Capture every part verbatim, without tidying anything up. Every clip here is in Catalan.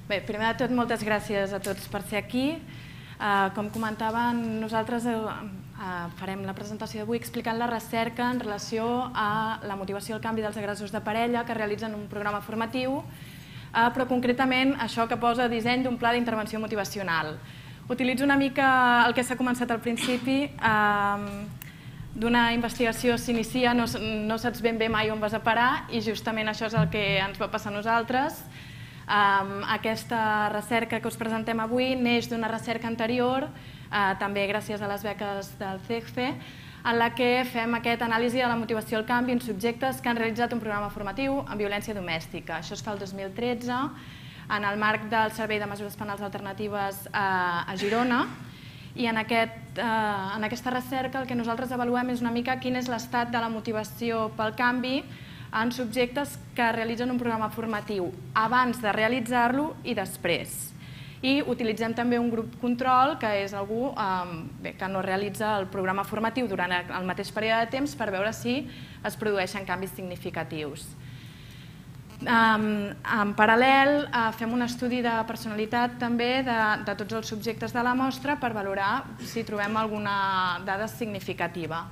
Bé, primer de tot, moltes gràcies a tots per ser aquí. Com comentaven, nosaltres farem la presentació d'avui explicant la recerca en relació a la motivació al canvi dels agressors de parella que realitzen un programa formatiu, però concretament això que posa disseny d'un pla d'intervenció motivacional. Utilitzo una mica el que s'ha començat al principi, d'una investigació s'inicia, no saps ben bé mai on vas a parar i justament això és el que ens va passar a nosaltres. Aquesta recerca que us presentem avui neix d'una recerca anterior, també gràcies a les beques del C E G F E, en la que fem aquesta anàlisi de la motivació al canvi en subjectes que han realitzat un programa formatiu en violència domèstica. Això es fa el dos mil tretze en el marc del Servei de Mesures Penals Alternatives a Girona, i en aquesta recerca el que nosaltres avaluem és una mica quin és l'estat de la motivació pel canvi en subjectes que realitzen un programa formatiu abans de realitzar-lo i després. I utilitzem també un grup control, que és algú que no realitza el programa formatiu durant el mateix període de temps per veure si es produeixen canvis significatius. En paral·lel, fem un estudi de personalitat també de tots els subjectes de la mostra per valorar si trobem alguna dada significativa.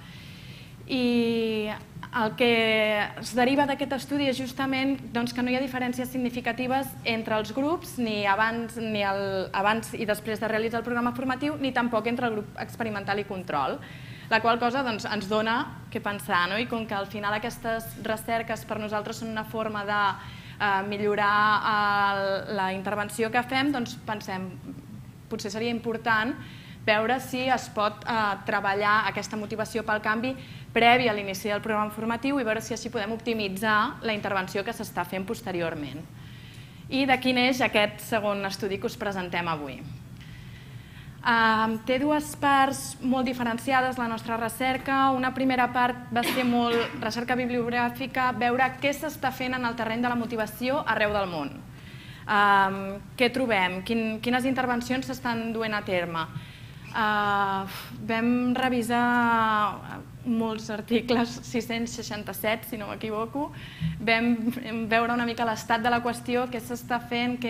I el que es deriva d'aquest estudi és justament que no hi ha diferències significatives entre els grups, ni abans i després de realitzar el programa formatiu, ni tampoc entre el grup experimental i control, la qual cosa ens dona què pensar. I com que al final aquestes recerques per nosaltres són una forma de millorar la intervenció que fem, doncs pensem que potser seria important veure si es pot treballar aquesta motivació pel canvi previ a l'inici del programa formatiu i veure si així podem optimitzar la intervenció que s'està fent posteriorment. I d'aquí neix aquest segon estudi que us presentem avui. Té dues parts molt diferenciades la nostra recerca. Una primera part va ser molt recerca bibliogràfica, veure què s'està fent en el terreny de la motivació arreu del món. Què trobem? Quines intervencions s'estan duent a terme? Vam revisar molts articles, sis-cents seixanta-set si no m'equivoco, vam veure una mica l'estat de la qüestió, què s'està fent,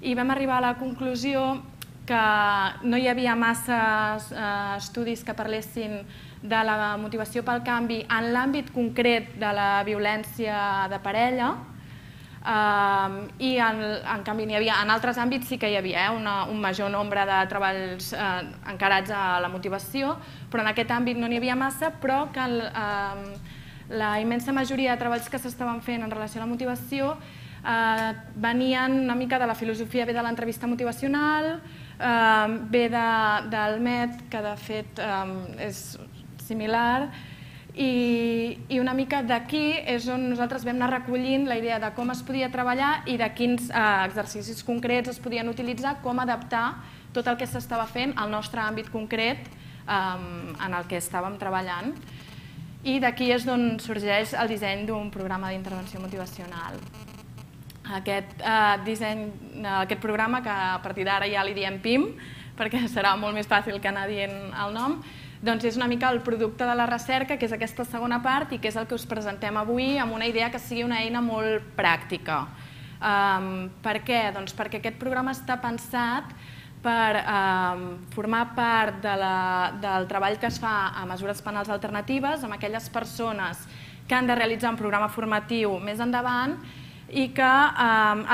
i vam arribar a la conclusió que no hi havia massa estudis que parlessin de la motivació pel canvi en l'àmbit concret de la violència de parella, i en canvi en altres àmbits sí que hi havia un major nombre de treballs encarats a la motivació, però en aquest àmbit no n'hi havia massa, però que la immensa majoria de treballs que s'estaven fent en relació a la motivació venien una mica de la filosofia, ve de l'entrevista motivacional, ve del M E T, que de fet és similar, i una mica d'aquí és on nosaltres vam anar recollint la idea de com es podia treballar i de quins exercicis concrets es podien utilitzar, com adaptar tot el que s'estava fent al nostre àmbit concret en el que estàvem treballant. I d'aquí és d'on sorgeix el disseny d'un programa d'intervenció motivacional. Aquest programa, que a partir d'ara ja li diem P I M, perquè serà molt més fàcil que anar dient el nom, doncs és una mica el producte de la recerca, que és aquesta segona part i que és el que us presentem avui amb una idea que sigui una eina molt pràctica. Per què? Doncs perquè aquest programa està pensat per formar part del treball que es fa a mesures penals alternatives amb aquelles persones que han de realitzar un programa formatiu més endavant i que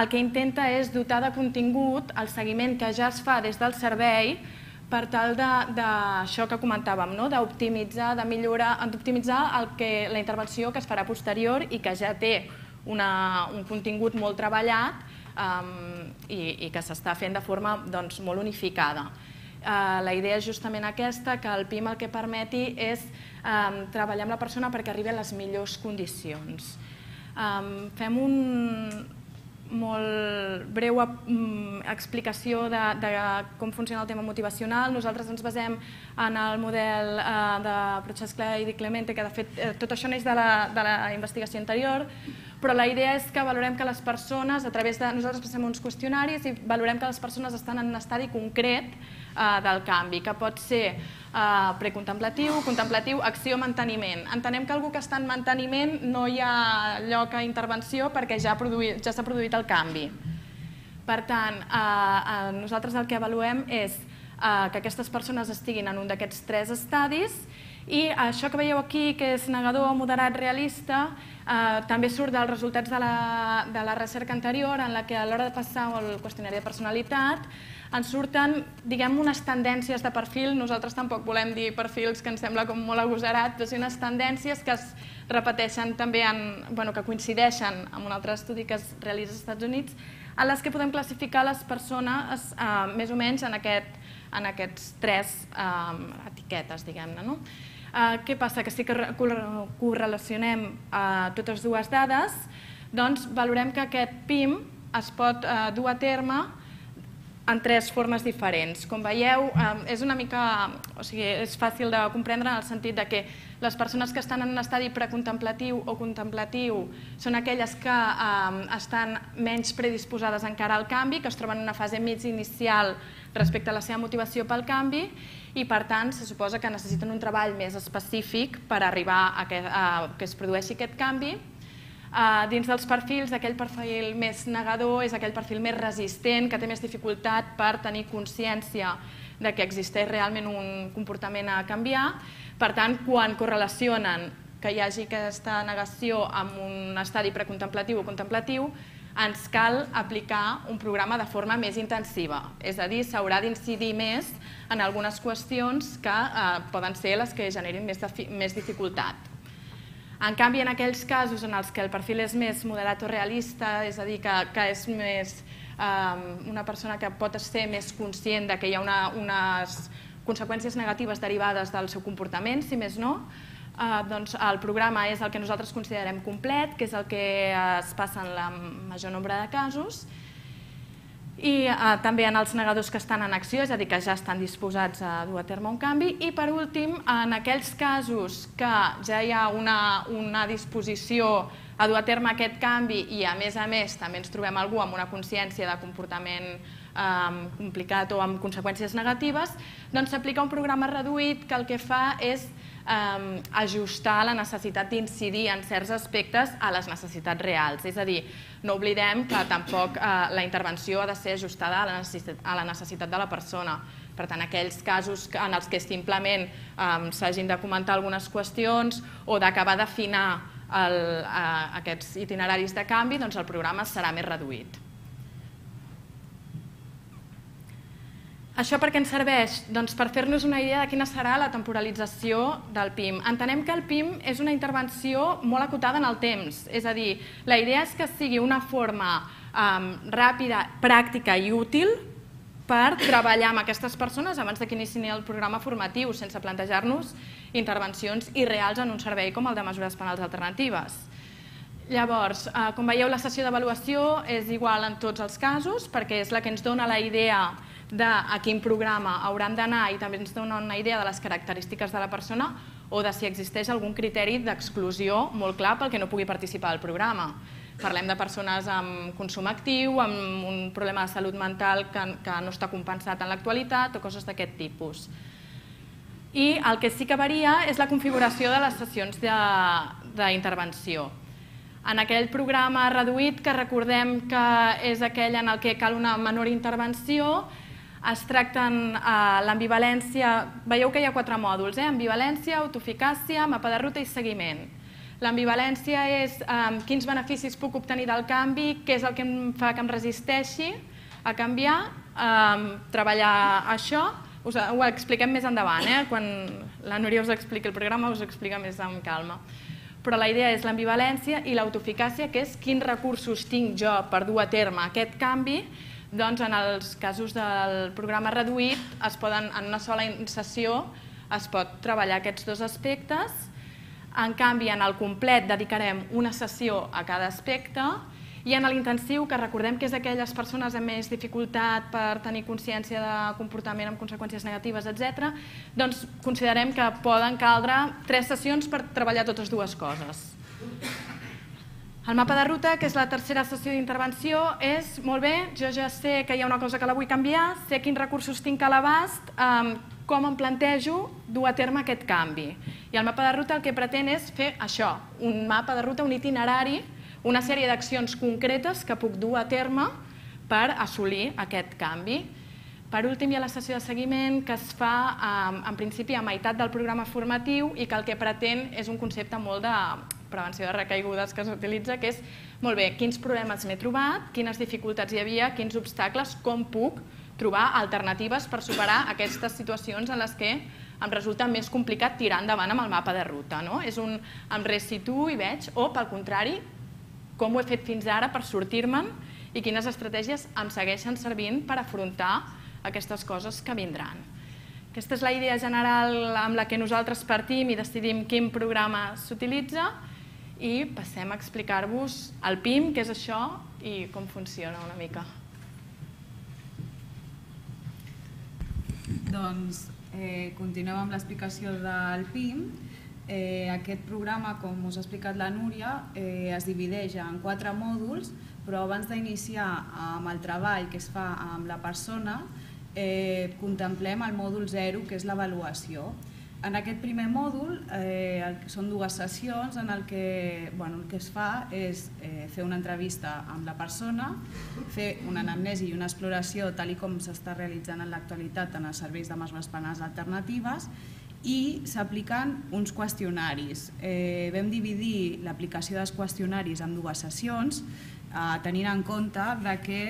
el que intenta és dotar de contingut el seguiment que ja es fa des del servei per tal d'això que comentàvem, d'optimitzar, de millorar, d'optimitzar la intervenció que es farà posterior i que ja té un contingut molt treballat i que s'està fent de forma molt unificada. La idea és justament aquesta, que el P I M el que permeti és treballar amb la persona perquè arribi a les millors condicions. Fem una molt breu explicació de com funciona el tema motivacional. Nosaltres ens basem en el model de Prochaska i Di Clemente, que de fet tot això neix de la investigació anterior, però la idea és que valorem que les persones, a través de... Nosaltres passem uns qüestionaris i valorem que les persones estan en un estadi concret del canvi, que pot ser precontemplatiu, contemplatiu, acció, manteniment. Entenem que algú que està en manteniment no hi ha lloc a intervenció perquè ja s'ha produït el canvi. Per tant, nosaltres el que avaluem és que aquestes persones estiguin en un d'aquests tres estadis i això que veieu aquí, que és negador, moderat, realista, també surt dels resultats de la recerca anterior en la que a l'hora de passar el qüestionari de personalitat ens surten, diguem, unes tendències de perfil. Nosaltres tampoc volem dir perfils que ens sembla com molt agosarat, però sí unes tendències que es repeteixen també, que coincideixen amb un altre estudi que es realitza als Estats Units, en les que podem classificar les persones més o menys en aquests tres etiquetes, diguem-ne. Què passa? Que si correlacionem totes dues dades, doncs valorem que aquest P I M es pot dur a terme en tres formes diferents. Com veieu, és una mica, o sigui, és fàcil de comprendre en el sentit que les persones que estan en un estadi precontemplatiu o contemplatiu són aquelles que estan menys predisposades encara al canvi, que es troben en una fase mig inicial respecte a la seva motivació pel canvi i, per tant, se suposa que necessiten un treball més específic per arribar a que es produeixi aquest canvi. Dins dels perfils, aquell perfil més negador és aquell perfil més resistent, que té més dificultat per tenir consciència de que existeix realment un comportament a canviar. Per tant, quan correlacionen que hi hagi aquesta negació amb un estadi precontemplatiu o contemplatiu, ens cal aplicar un programa de forma més intensiva. És a dir, s'haurà d'incidir més en algunes qüestions que poden ser les que generin més dificultat. En canvi, en aquells casos en els que el perfil és més moderat o realista, és a dir, que és més una persona que pot ser més conscient que hi ha unes conseqüències negatives derivades del seu comportament, si més no, doncs el programa és el que nosaltres considerem complet, que és el que es passa en el major nombre de casos, i també en els negadors que estan en acció, és a dir, que ja estan disposats a dur a terme un canvi, i per últim, en aquells casos que ja hi ha una disposició a dur a terme aquest canvi i a més a més també ens trobem algú amb una consciència de comportament complicat o amb conseqüències negatives, doncs s'aplica un programa reduït que el que fa és ajustar la necessitat d'incidir en certs aspectes a les necessitats reals. És a dir, no oblidem que tampoc la intervenció ha de ser ajustada a la necessitat de la persona. Per tant, aquells casos en els que simplement s'hagin de comentar algunes qüestions o d'acabar d'afinar aquests itineraris de canvi, doncs el programa serà més reduït. Això per què ens serveix? Doncs per fer-nos una idea de quina serà la temporalització del P I M. Entenem que el P I M és una intervenció molt acotada en el temps, és a dir, la idea és que sigui una forma ràpida, pràctica i útil per treballar amb aquestes persones abans que iniciïn el programa formatiu, sense plantejar-nos intervencions irreals en un servei com el de mesures penals alternatives. Llavors, com veieu, la sessió d'avaluació és igual en tots els casos perquè és la que ens dona la idea de a quin programa hauran d'anar i també ens dona una idea de les característiques de la persona o de si existeix algun criteri d'exclusió molt clar pel que no pugui participar al programa. Parlem de persones amb consum actiu, amb un problema de salut mental que no està compensat en l'actualitat o coses d'aquest tipus. I el que sí que varia és la configuració de les sessions d'intervenció. En aquell programa reduït, que recordem que és aquell en el que cal una menor intervenció, es tracten l'ambivalència, veieu que hi ha quatre mòduls, ambivalència, autoeficàcia, mapa de ruta i seguiment. L'ambivalència és quins beneficis puc obtenir del canvi, què és el que em fa que em resisteixi a canviar, treballar això, ho expliquem més endavant, quan la Núria us expliqui el programa us ho explica més amb calma. Però la idea és l'ambivalència i l'autoeficàcia, que és quins recursos tinc jo per dur a terme aquest canvi. Doncs en els casos del programa reduït, en una sola sessió es pot treballar aquests dos aspectes. En canvi, en el complet dedicarem una sessió a cada aspecte i en l'intensiu, que recordem que és aquelles persones amb més dificultat per tenir consciència de comportament amb conseqüències negatives, etcètera, doncs considerem que poden caldre tres sessions per treballar totes dues coses. El mapa de ruta, que és la tercera sessió d'intervenció, és, molt bé, jo ja sé que hi ha una cosa que la vull canviar, sé quins recursos tinc a l'abast, com em plantejo dur a terme aquest canvi. I el mapa de ruta el que pretén és fer això, un mapa de ruta, un itinerari, una sèrie d'accions concretes que puc dur a terme per assolir aquest canvi. Per últim, hi ha la sessió de seguiment que es fa en principi a meitat del programa formatiu i que el que pretén és un concepte molt de prevenció de recaigudes que s'utilitza, que és, molt bé, quins problemes m'he trobat, quines dificultats hi havia, quins obstacles, com puc trobar alternatives per superar aquestes situacions en les que em resulta més complicat tirar endavant amb el mapa de ruta. És un em resituo i veig, o pel contrari, com ho he fet fins ara per sortir-me'n i quines estratègies em segueixen servint per afrontar aquestes coses que vindran. Aquesta és la idea general amb la que nosaltres partim i decidim quin programa s'utilitza i passem a explicar-vos el P I M, què és això i com funciona una mica. Doncs continuem amb l'explicació del P I M. Aquest programa, com us ha explicat la Núria, es divideix en quatre mòduls, però abans d'iniciar amb el treball que es fa amb la persona, contemplem el mòdul zero, que és l'avaluació. En aquest primer mòdul són dues sessions en el que el que es fa és fer una entrevista amb la persona, fer una anamnesi i una exploració tal com s'està realitzant en l'actualitat en els serveis de mesures penals alternatives i s'apliquen uns qüestionaris. Vam dividir l'aplicació dels qüestionaris en dues sessions, tenint en compte que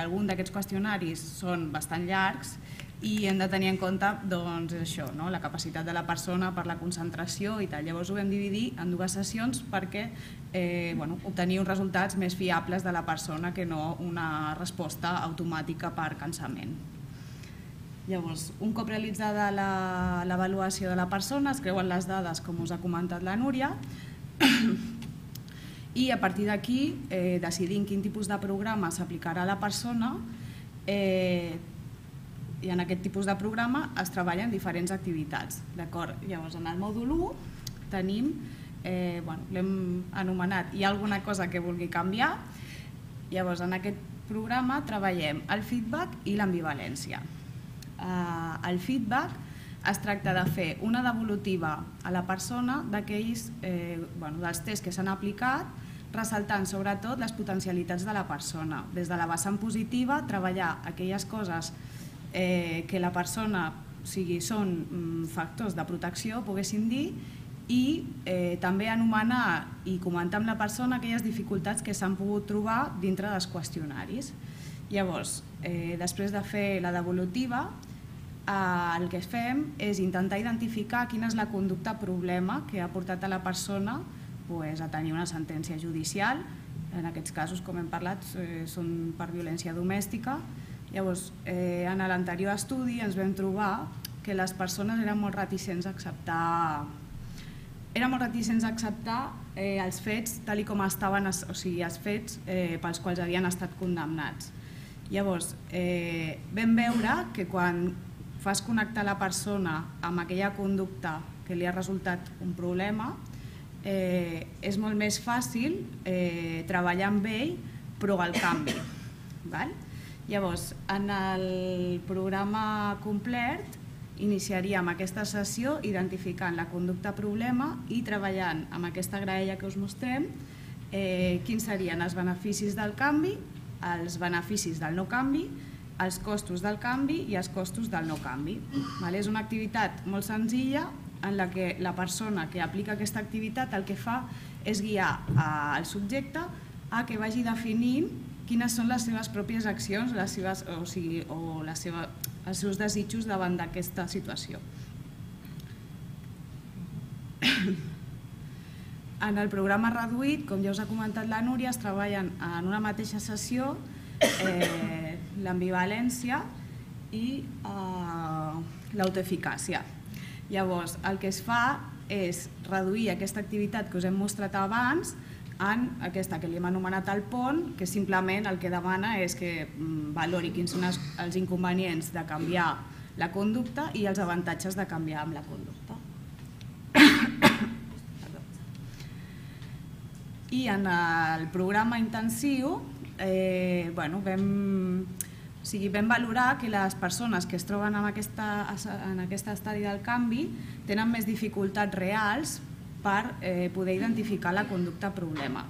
alguns d'aquests qüestionaris són bastant llargs i hem de tenir en compte la capacitat de la persona per la concentració i tal. Llavors ho vam dividir en dues sessions perquè obtenir uns resultats més fiables de la persona que no una resposta automàtica per cansament. Llavors, un cop realitzada l'avaluació de la persona, es creuen les dades, com us ha comentat la Núria, i a partir d'aquí decidim quin tipus de programa s'aplicarà a la persona i en aquest tipus de programa es treballen diferents activitats. Llavors, en el mòdul u tenim, l'hem anomenat, hi ha alguna cosa que vulgui canviar, llavors en aquest programa treballem el feedback i l'ambivalència. El feedback es tracta de fer una devolutiva a la persona d'aquells dels tests que s'han aplicat, ressaltant sobretot les potencialitats de la persona. Des de la vessant positiva, treballar aquelles coses que la persona són factors de protecció, poguéssim dir, i també anomenar i comentar amb la persona aquelles dificultats que s'han pogut trobar dintre dels qüestionaris. Llavors, després de fer la devolutiva, el que fem és intentar identificar quina és la conducta problema que ha portat a la persona a tenir una sentència judicial. En aquests casos, com hem parlat, són per violència domèstica. Llavors, en l'anterior estudi ens vam trobar que les persones eren molt reticents a acceptar eren molt reticents a acceptar els fets tal com estaven, o sigui, els fets pels quals havien estat condemnats. Llavors, vam veure que quan fas connectar la persona amb aquella conducta que li ha resultat un problema, és molt més fàcil treballar amb ell, però al canvi. Llavors, en el programa complet, iniciaríem aquesta sessió identificant la conducta problema i treballant amb aquesta graella que us mostrem quins serien els beneficis del canvi, els beneficis del no canvi, els costos del canvi i els costos del no canvi. És una activitat molt senzilla en la que la persona que aplica aquesta activitat el que fa és guiar el subjecte a que vagi definint quines són les seves pròpies accions o els seus desitjos davant d'aquesta situació. En el programa reduït, com ja us ha comentat la Núria, es treballen en una mateixa sessió l'ambivalència i l'autoeficàcia. Llavors, el que es fa és reduir aquesta activitat que us hem mostrat abans en aquesta que li hem anomenat el pont, que simplement el que demana és que valori quins són els inconvenients de canviar la conducta i els avantatges de canviar amb la conducta. I en el programa intensiu vam valorar que les persones que es troben en aquest estadi del canvi tenen més dificultats reals per poder identificar la conducta problema.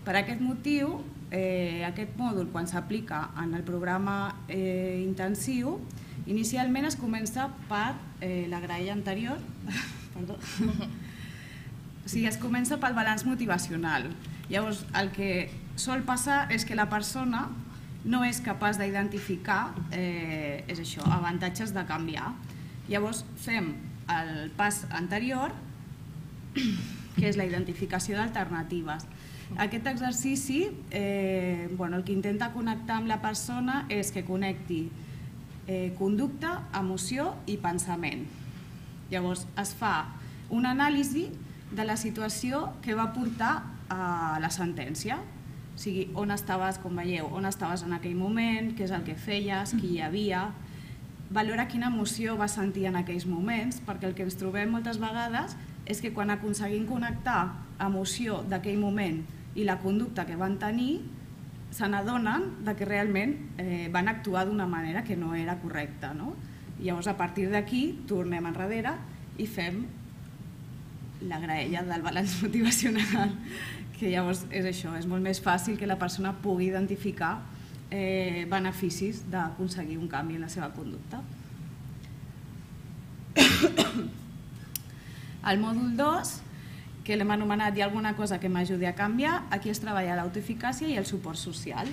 Per aquest motiu aquest mòdul, quan s'aplica en el programa intensiu, inicialment es comença per la graella anterior, perdó, o sigui, es comença pel balanç motivacional. Llavors, el que sol passar és que la persona no és capaç d'identificar és això, avantatges de canviar. Llavors, fem el pas anterior, que és la identificació d'alternatives. Aquest exercici el que intenta connectar amb la persona és que connecti conducta, emoció i pensament. Llavors es fa una anàlisi de la situació que va portar a la sentència. O sigui, on estaves, com veieu, on estaves en aquell moment, què és el que feies, qui hi havia. Valora quina emoció vas sentir en aquells moments, perquè el que ens trobem moltes vegades és que quan aconseguim connectar emoció d'aquell moment i la conducta que van tenir, se n'adonen que realment van actuar d'una manera que no era correcta. Llavors, a partir d'aquí, tornem enrere i fem la graella del balanç motivacional, que llavors és això, és molt més fàcil que la persona pugui identificar beneficis d'aconseguir un canvi en la seva conducta. Al mòdul dos, que l'hem anomenat "Hi ha alguna cosa que m'ajudi a canviar", aquí es treballa l'autoeficàcia i el suport social.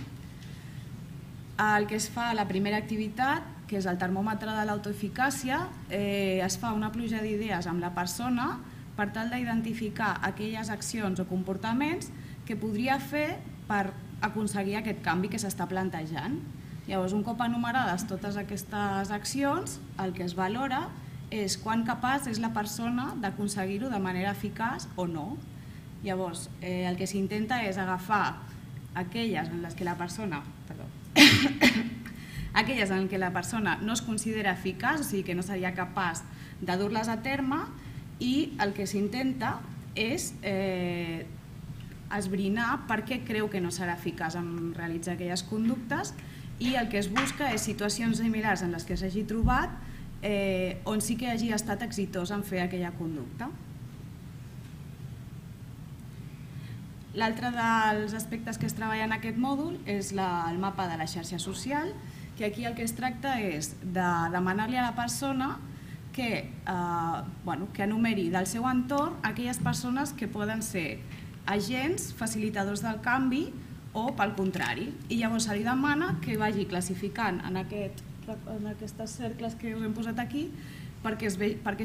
El que es fa a la primera activitat, que és el termòmetre de l'autoeficàcia, es fa una pluja d'idees amb la persona per tal d'identificar aquelles accions o comportaments que podria fer per aconseguir aquest canvi que s'està plantejant. Llavors, un cop enumerades totes aquestes accions, el que es valora és quan capaç és la persona d'aconseguir-ho de manera eficaç o no. Llavors, el que s'intenta és agafar aquelles en les que la persona perdó, aquelles en què la persona no es considera eficaç, o sigui que no seria capaç de dur-les a terme, i el que s'intenta és esbrinar per què creu que no serà eficaç en realitzar aquelles conductes, i el que es busca és situacions similars en les que s'hagi trobat on sí que hagi estat exitós en fer aquella conducta. L'altre dels aspectes que es treballa en aquest mòdul és el mapa de la xarxa social, que aquí el que es tracta és de demanar-li a la persona que enumeri del seu entorn aquelles persones que poden ser agents, facilitadors del canvi o pel contrari. I llavors se li demana que vagi classificant en aquests cercles que us hem posat aquí perquè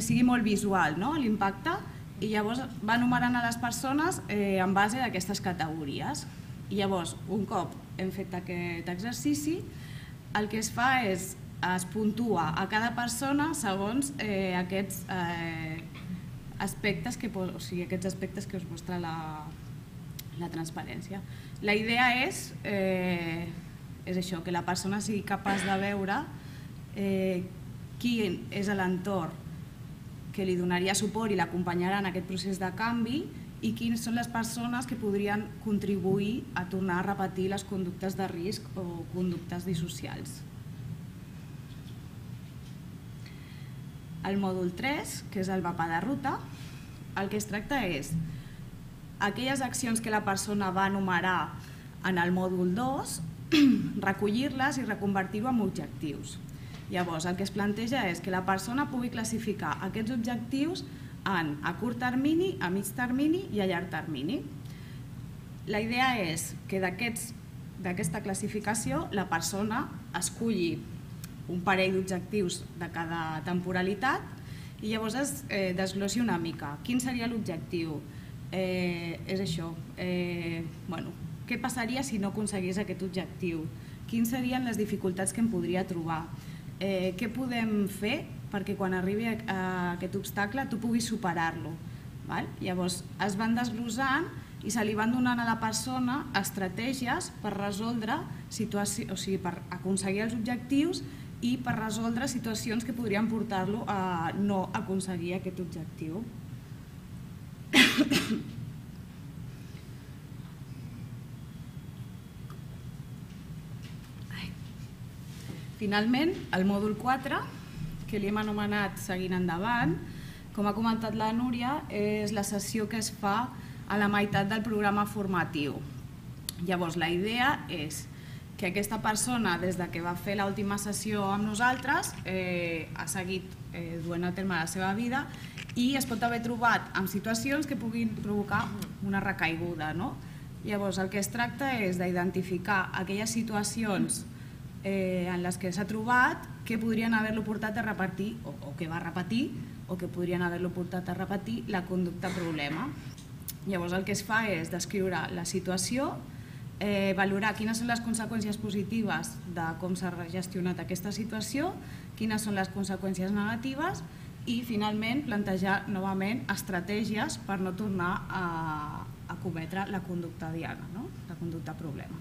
sigui molt visual l'impacte, i llavors va enumerant a les persones en base a aquestes categories. I llavors, un cop hem fet aquest exercici, el que es fa és es puntua a cada persona segons aquests aspectes que us mostra la transparència. La idea és això, que la persona sigui capaç de veure quin és l'entorn que li donaria suport i l'acompanyarà en aquest procés de canvi i quines són les persones que podrien contribuir a tornar a repetir les conductes de risc o conductes dissocials. El mòdul tres, que és el mapa de ruta, el que es tracta és aquelles accions que la persona va enumerar en el mòdul dos, recollir-les i reconvertir-ho en objectius. Llavors, el que es planteja és que la persona pugui classificar aquests objectius en a curt termini, a mig termini i a llarg termini. La idea és que d'aquesta classificació la persona esculli un parell d'objectius de cada temporalitat i llavors es desglossi una mica. Quin seria l'objectiu? És això, què passaria si no aconseguís aquest objectiu? Quines serien les dificultats que em podria trobar? Què podem fer perquè quan arribi a aquest obstacle tu puguis superar-lo? Llavors es van desglossant i se li van donant a la persona estratègies per resoldre situacions, o sigui, per aconseguir els objectius i per resoldre situacions que podrien portar-lo a no aconseguir aquest objectiu. Finalment, el mòdul quatre, que li hem anomenat Seguint endavant, com ha comentat la Núria, és la sessió que es fa a la meitat del programa formatiu. Llavors, la idea és que aquesta persona, des que va fer l'última sessió amb nosaltres, ha seguit duent a terme la seva vida i es pot haver trobat en situacions que puguin provocar una recaiguda. Llavors, el que es tracta és d'identificar aquelles situacions en les que s'ha trobat que podrien haver-lo portat a repetir, o que va repetir, o que podrien haver-lo portat a repetir la conducta problema. Llavors, el que es fa és descriure la situació, valorar quines són les conseqüències positives de com s'ha gestionat aquesta situació, quines són les conseqüències negatives i, finalment, plantejar novament estratègies per no tornar a cometre la conducta diana, la conducta problema.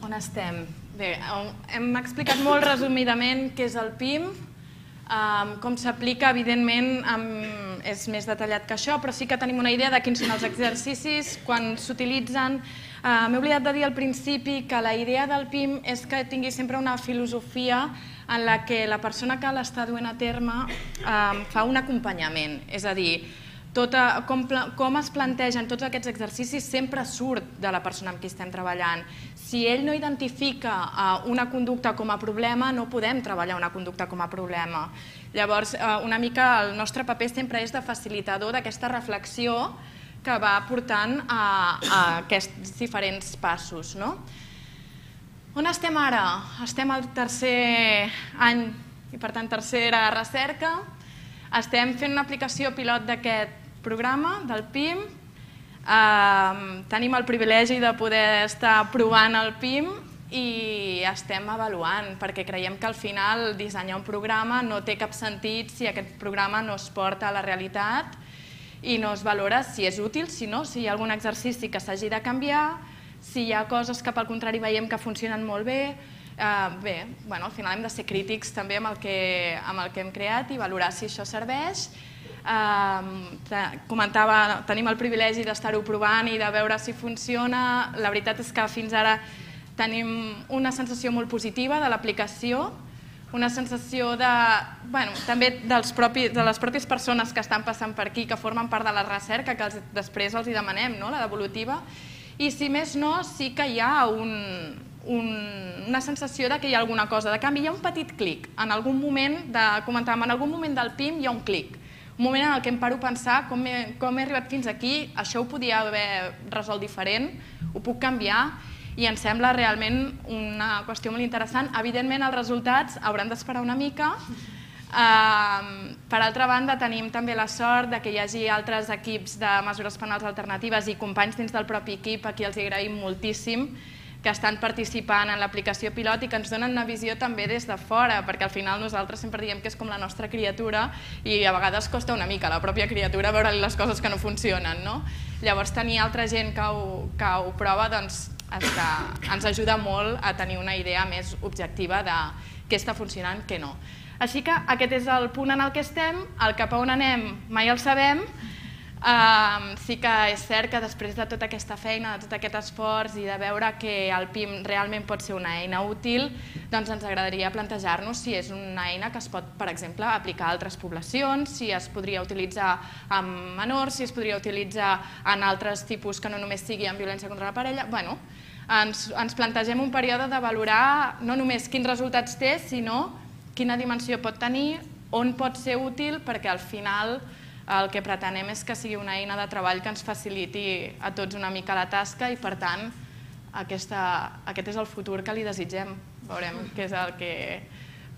On estem? Bé, hem explicat molt resumidament què és el P I M, com s'aplica, evidentment, és més detallat que això, però sí que tenim una idea de quins són els exercicis, quan s'utilitzen. M'he oblidat de dir al principi que la idea del P I M és que tingui sempre una filosofia en la que la persona que l'està duent a terme fa un acompanyament, és a dir, com es plantegen tots aquests exercicis sempre surt de la persona amb qui estem treballant. Si ell no identifica una conducta com a problema, no podem treballar una conducta com a problema. Llavors, una mica el nostre paper sempre és de facilitador d'aquesta reflexió que va portant a aquests diferents passos. On estem ara? Estem al tercer any i, per tant, tercera recerca. Estem fent una aplicació pilot d'aquest programa, del P I M. Tenim el privilegi de poder estar provant el P I M i estem avaluant, perquè creiem que al final dissenyar un programa no té cap sentit si aquest programa no es porta a la realitat i no es valora si és útil, si no, si hi ha algun exercici que s'hagi de canviar, si hi ha coses que pel contrari veiem que funcionen molt bé. Bé, al final hem de ser crítics també amb el que hem creat i valorar si això serveix. Comentava, tenim el privilegi d'estar-ho provant i de veure si funciona. La veritat és que fins ara tenim una sensació molt positiva de l'aplicació, una sensació també de les pròpies persones que estan passant per aquí, que formen part de la recerca, que després els demanem, la devolutiva, i si més no, sí que hi ha una sensació que hi ha alguna cosa de canvi. Hi ha un petit clic, en algun moment, comentàvem, en algun moment del P I M hi ha un clic, un moment en què em paro a pensar com he arribat fins aquí, això ho podia haver resolt diferent, ho puc canviar, i em sembla realment una qüestió molt interessant. Evidentment, els resultats hauran d'esperar una mica. Per altra banda, tenim també la sort que hi hagi altres equips de mesures penals alternatives i companys dins del propi equip, a qui els agraïm moltíssim, que estan participant en l'aplicació pilot i que ens donen una visió també des de fora, perquè al final nosaltres sempre diem que és com la nostra criatura i a vegades costa una mica a la pròpia criatura veure les coses que no funcionen. Llavors, tenir altra gent que ho prova ens ajuda molt a tenir una idea més objectiva de què està funcionant, què no. Així que aquest és el punt en el que estem, el cap a on anem mai el sabem. Sí que és cert que després de tota aquesta feina, de tot aquest esforç i de veure que el P I M realment pot ser una eina útil, doncs ens agradaria plantejar-nos si és una eina que es pot, per exemple, aplicar a altres poblacions, si es podria utilitzar amb menors, si es podria utilitzar en altres tipus que no només sigui en violència contra la parella. Bé, ens plantegem un període de valorar no només quins resultats té, sinó quina dimensió pot tenir, on pot ser útil, perquè al final el que pretenem és que sigui una eina de treball que ens faciliti a tots una mica la tasca i, per tant, aquest és el futur que li desitgem. Veurem què és el que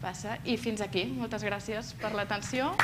passa. I fins aquí. Moltes gràcies per l'atenció.